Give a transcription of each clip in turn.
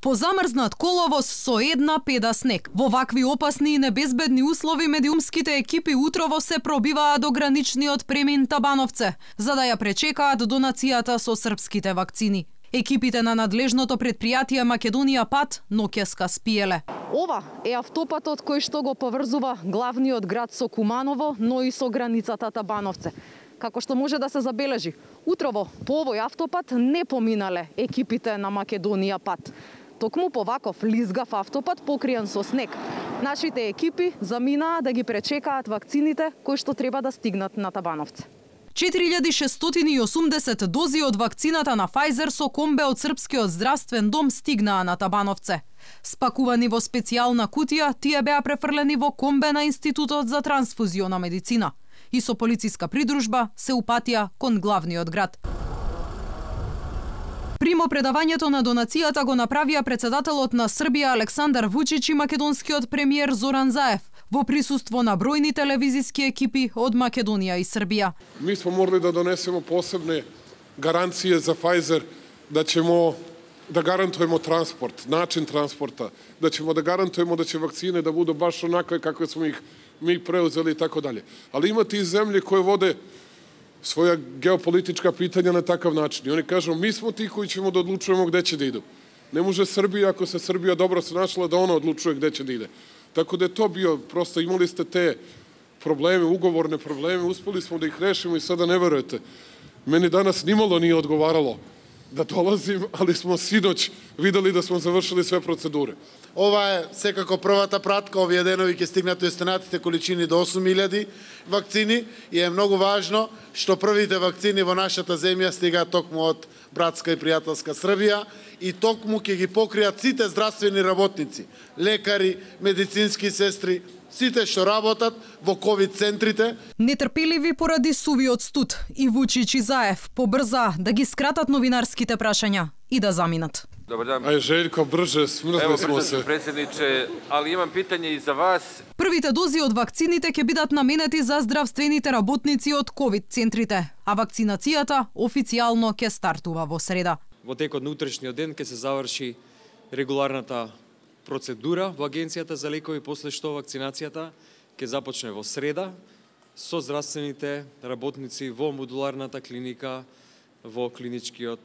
Позамрзнат коловоз со една педа снег. Во вакви опасни и небезбедни услови медиумските екипи утрово се пробиваат до граничниот премин Табановце, за да ја пречекаат донацијата со српските вакцини. Екипите на надлежното предпријатие Македонија Пат ноќеска спиеле. Ова е автопатот кој што го поврзува главниот град со Куманово, но и со границата Табановце. Како што може да се забележи, утрово по овој автопат не поминале екипите на Македонија Пат. Токму по ваков лизгав автопат покриен со снег. Нашите екипи заминаа да ги пречекаат вакцините кои што треба да стигнат на Табановце. 4680 дози од вакцината на Pfizer со комбе од Српскиот здравствен дом стигнаа на Табановце. Спакувани во специјална кутија, тие беа префрлени во комбе на Институтот за трансфузиона медицина и со полициска придружба се упатија кон главниот град. Примопредавањето на донацијата го направија председателот на Србија Александар Вучич и македонскиот премиер Зоран Заев во присуство на бројни телевизиски екипи од Македонија и Србија. Ми смо морали да донесемо посебне гаранције за Pfizer да ćemo да гарантуемо транспорт, начин транспорта, да ćemo да гарантуемо да ќе вакцине да буду баш онакве какве смо их ми преузели и така дале. Али имате и земји кои воде своја геополитичка питања на такав начин. И они кажу, ми смо ти кои ćemo да одлучуваме где ќе да иду. Не може Србија, ако се Србија добро се нашла, да она одлучува где ќе да иде. Tako da je to bio, prosto imali ste te probleme, ugovorne probleme, uspeli smo da ih rešimo i sada ne verujete. Meni danas nimalo nije odgovaralo da dolazim, ali smo sinoć videli da smo završili sve procedure. Ова е секако првата пратка, овие денови ќе стигнат останатите количини до 8000 вакцини и е многу важно што првите вакцини во нашата земја стигаат токму од братска и пријателска Србија и токму ќе ги покријат сите здравствени работници, лекари, медицински сестри, сите што работат во ковид центрите. Нетрпеливи поради сувиот студ, и Вучич и Заев побрза да ги скратат новинарските прашања и да заминат. Добар дан. Ај Željko, brže, smrzli smo se. Predsjedniče, ali imam pitanje i za vas. Првите дози од вакцините ќе бидат наменети за здравствените работници од ковид центрите, а вакцинацијата официјално ќе стартува во среда. Во текот на утрешниот ден ќе се заврши регуларната процедура во Агенцијата за лекови, после што вакцинацијата ќе започне во среда со здравствените работници во модуларната клиника во клиничкиот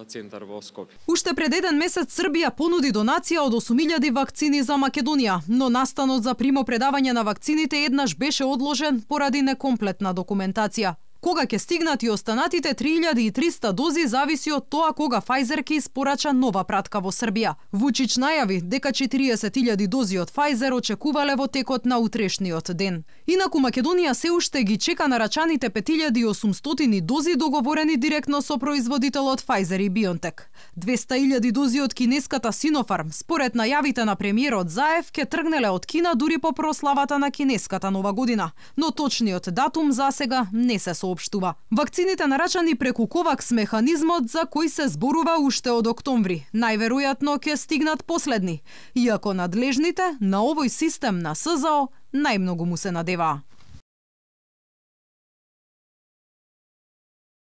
центар во Скопје. Уште пред еден месец Србија понуди донација од 8000 вакцини за Македонија, но настанот за примопредавање на вакцините еднаш беше одложен поради некомплетна документација. Кога ќе стигнат и останатите 3300 дози зависи од тоа кога Pfizer ќе испорача нова пратка во Србија. Вучич најави дека 40.000 дози од Pfizer очекувале во текот на утрешниот ден. Инаку Македонија се уште ги чека нарачаните 5800 дози договорени директно со производителот Pfizer и BioNTech. 200.000 дози од кинеската Sinopharm, според најавите на премиерот Заев, ќе тргнеле од Кина дури по прославата на кинеската нова година, но точниот датум засега не се соопштува. Вакцините нарачани преку Ковакс механизмот за кој се зборува уште од октомври, најверојатно ќе стигнат последни, иако надлежните на овој систем на СЗО најмногу му се надеваа.